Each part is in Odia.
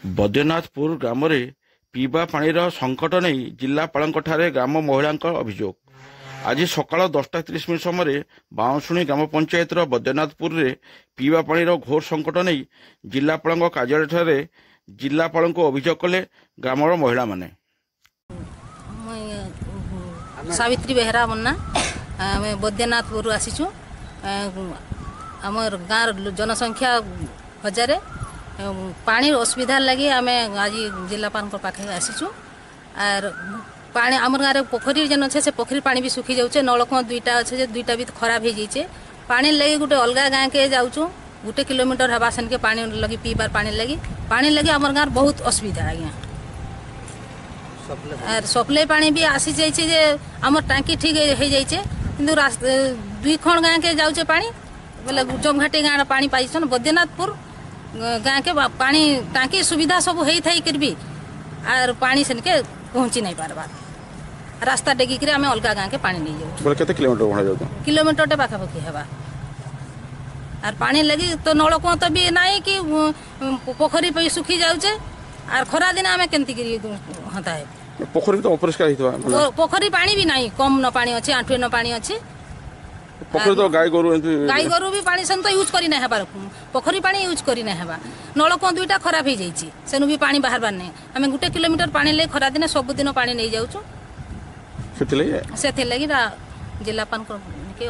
ବୈଦ୍ୟନାଥପୁର ଗ୍ରାମରେ ପିଇବା ପାଣିର ସଙ୍କଟ ନେଇ ଜିଲ୍ଲାପାଳଙ୍କଠାରେ ଗ୍ରାମ ମହିଳାଙ୍କ ଅଭିଯୋଗ। ଆଜି ସକାଳ 10ଟା 30 ମିନିଟ୍ ସମୟରେ ବାଉଁଶୁଣୀ ଗ୍ରାମ ପଞ୍ଚାୟତର ବୈଦ୍ୟନାଥପୁରରେ ପିଇବା ପାଣିର ଘୋର ସଙ୍କଟ ନେଇ ଜିଲ୍ଲାପାଳଙ୍କ କାର୍ଯ୍ୟାଳୟଠାରେ ଜିଲ୍ଲାପାଳଙ୍କୁ ଅଭିଯୋଗ କଲେ ଗ୍ରାମର ମହିଳାମାନେ। ମୁଇଁ ସାବିତ୍ରୀ ବେହେରା ମୁନ୍ନା। ଆମେ ବୈଦ୍ୟନାଥପୁରରୁ ଆସିଛୁ। ଆମର ଗାଁର ଜନସଂଖ୍ୟା ହଜାରେ। ପାଣିର ଅସୁବିଧା ଲାଗି ଆମେ ଆଜି ଜିଲ୍ଲାପାଳଙ୍କ ପାଖେ ଆସିଛୁ। ଆର୍ ପାଣି ଆମର ଗାଁରେ ପୋଖରୀ ଯେନ୍ ଅଛେ, ସେ ପୋଖରୀ ପାଣି ବି ଶୁଖି ଯାଉଛେ। ନଳକୂଅ ଦୁଇଟା ଅଛେ ଯେ ଦୁଇଟା ବି ଖରାପ ହେଇଯାଇଛେ। ପାଣି ଲାଗି ଗୋଟେ ଅଲଗା ଗାଁକେ ଯାଉଛୁ, 1 କିଲୋମିଟର ହେବା ସେନକେ ପାଣି ଲାଗି, ପିଇବାର ପାଣି ଲାଗି। ପାଣି ଲାଗି ଆମର ଗାଁର ବହୁତ ଅସୁବିଧା ଆଜ୍ଞା। ଆର୍ ସପ୍ଲାଇ ପାଣି ବି ଆସି ଯାଇଛେ ଯେ ଆମର ଟାଙ୍କି ଠିକ୍ ହେଇଯାଇଛେ, କିନ୍ତୁ ଦୁଇ ଖଣ୍ଡ ଗାଁକେ ଯାଉଛେ ପାଣି ବୋଲେ ଜମଘାଟି ଗାଁର ପାଣି ପାଇଛନ୍। ବୈଦ୍ୟନାଥପୁର ଗାଁକେ ପାଣି ଟାଙ୍କି ସୁବିଧା ସବୁ ହେଇଥାଇକିରି ବି ଆର୍ ପାଣି ସେନକେ ପହଞ୍ଚି ନାଇଁ ପାରବାର୍। ରାସ୍ତା ଡେଗିକିରି ଆମେ ଅଲଗା ଗାଁକେ ପାଣି ନେଇଯାଉଛୁ। ବୋଲେ କେତେ କିଲୋମିଟର ଭଡ଼ା ଯାଉଛ? କିଲୋମିଟରଟେ ପାଖାପାଖି ହେବା। ଆର୍ ପାଣି ଲାଗି ତ ନଳକୂଅ ତ ବି ନାଇଁ କି ପୋଖରୀ ବି ଶୁଖି ଯାଉଛେ। ଆର୍ ଖରା ଦିନେ ଆମେ କେମିତି କରି ହନ୍ତା ହେବୁ? ପୋଖରୀ ତ ଅପରିଷ୍କାର ହେଇଥିବ। ପୋଖରୀ ପାଣି ବି ନାହିଁ, କମ୍ ନ ପାଣି ଅଛି, ଆଣ୍ଠୁଏ ନ ପାଣି ଅଛି। ପୋଖରୀ ତ ଗାଈ ଗୋରୁ ଏମିତି ଗାଈ ଗୋରୁ ବି ପାଣି ସେମିତି ତ ୟୁଜ୍ କରି ନାଇଁ ହେବାର, ପୋଖରୀ ପାଣି ୟୁଜ୍ କରି ନାଇଁ ହେବା। ନଳକୂଅ ଦୁଇଟା ଖରାପ ହେଇଯାଇଛି, ସେନୁ ବି ପାଣି ବାହାରବାର ନାହିଁ। ଆମେ 1 କିଲୋମିଟର ପାଣି ଲାଗି ଖରାଦିନେ ସବୁଦିନ ପାଣି ନେଇଯାଉଛୁ। ସେଥିଲାଗି ସେଥିର୍ଲାଗି ଜିଲ୍ଲାପାଳଙ୍କ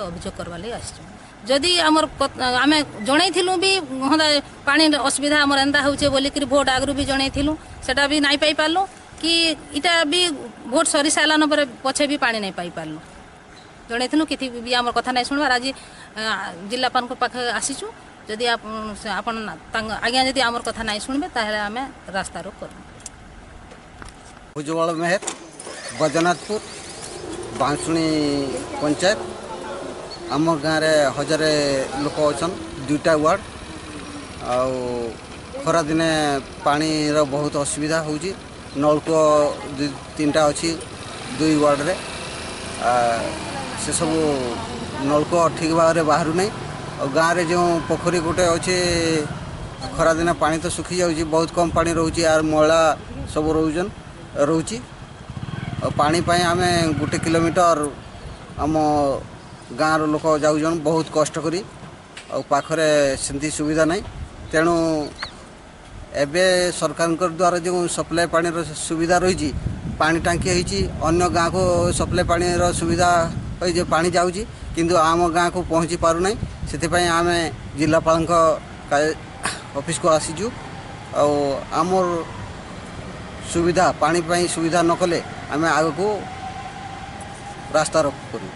ଅଭିଯୋଗ କରବାର୍ ଲାଗି ଆସିଛୁ। ଯଦି ଆମର ଆମେ ଜଣେଇଥିଲୁ ବି ହନ୍ତା ପାଣି ଅସୁବିଧା ଆମର ଏନ୍ତା ହଉଛେ ବୋଲିକିରି, ଭୋଟ ଆଗରୁ ବି ଜଣେଇଥିଲୁ, ସେଟା ବି ନାଇଁ ପାଇପାରିଲୁ କି ଇଟା ବି ଭୋଟ ସରି ସାରିଲାନ ପରେ ପଛେ ବି ପାଣି ନାଇଁ ପାଇପାରିଲୁ। ଜଣେଇଥିଲୁ, କିଛି ବି ଆମର କଥା ନାଇଁ ଶୁଣବାର। ଆଜି ଜିଲ୍ଲାପାଳଙ୍କ ପାଖେ ଆସିଛୁ। ଯଦି ଆପଣ ତାଙ୍କ ଆଜ୍ଞା ଯଦି ଆମର କଥା ନାଇଁ ଶୁଣିବେ, ତାହେଲେ ଆମେ ରାସ୍ତା ରୋକ କରିବୁ। ଭୁଜବଳ ମେହେର, ବୈଦ୍ୟନାଥପୁର, ବାଉଁଶୁଣୀ ପଞ୍ଚାୟତ। ଆମ ଗାଁରେ ହଜାରେ ଲୋକ ଅଛନ୍, ଦୁଇଟା ୱାର୍ଡ଼। ଆଉ ଖରାଦିନେ ପାଣିର ବହୁତ ଅସୁବିଧା ହେଉଛି। ନଳକୂଅ ଦୁଇ ତିନିଟା ଅଛି ଦୁଇ ୱାର୍ଡ଼ରେ। ସେସବୁ ନଳକୂଅ ଠିକ୍ ଭାବରେ ବାହାରୁ ନାହିଁ। ଆଉ ଗାଁରେ ଯେଉଁ ପୋଖରୀ ଗୋଟେ ଅଛି, ଖରାଦିନେ ପାଣି ତ ଶୁଖିଯାଉଛି, ବହୁତ କମ୍ ପାଣି ରହୁଛି। ଆର୍ ମଇଳା ସବୁ ରହୁଛନ୍ ରହୁଛି। ଆଉ ପାଣି ପାଇଁ ଆମେ 1 କିଲୋମିଟର ଆମ ଗାଁର ଲୋକ ଯାଉଛନ୍ ବହୁତ କଷ୍ଟ କରି। ଆଉ ପାଖରେ ସେମିତି ସୁବିଧା ନାହିଁ। ତେଣୁ ଏବେ ସରକାରଙ୍କ ଦ୍ୱାରା ଯେଉଁ ସପ୍ଲାଏ ପାଣିର ସୁବିଧା ରହିଛି, ପାଣି ଟାଙ୍କି ହେଇଛି, ଅନ୍ୟ ଗାଁକୁ ସପ୍ଲାଏ ପାଣିର ସୁବିଧା ହୋଇଛି, ପାଣି ଯାଉଛି, କିନ୍ତୁ ଆମ ଗାଁକୁ ପହଞ୍ଚି ପାରୁନାହିଁ। ସେଥିପାଇଁ ଆମେ ଜିଲ୍ଲାପାଳଙ୍କ ଅଫିସକୁ ଆସିଛୁ। ଆଉ ଆମର ସୁବିଧା ପାଣି ପାଇଁ ସୁବିଧା ନ କଲେ ଆମେ ଆଗକୁ ରାସ୍ତା ରୋକ କରିବୁ।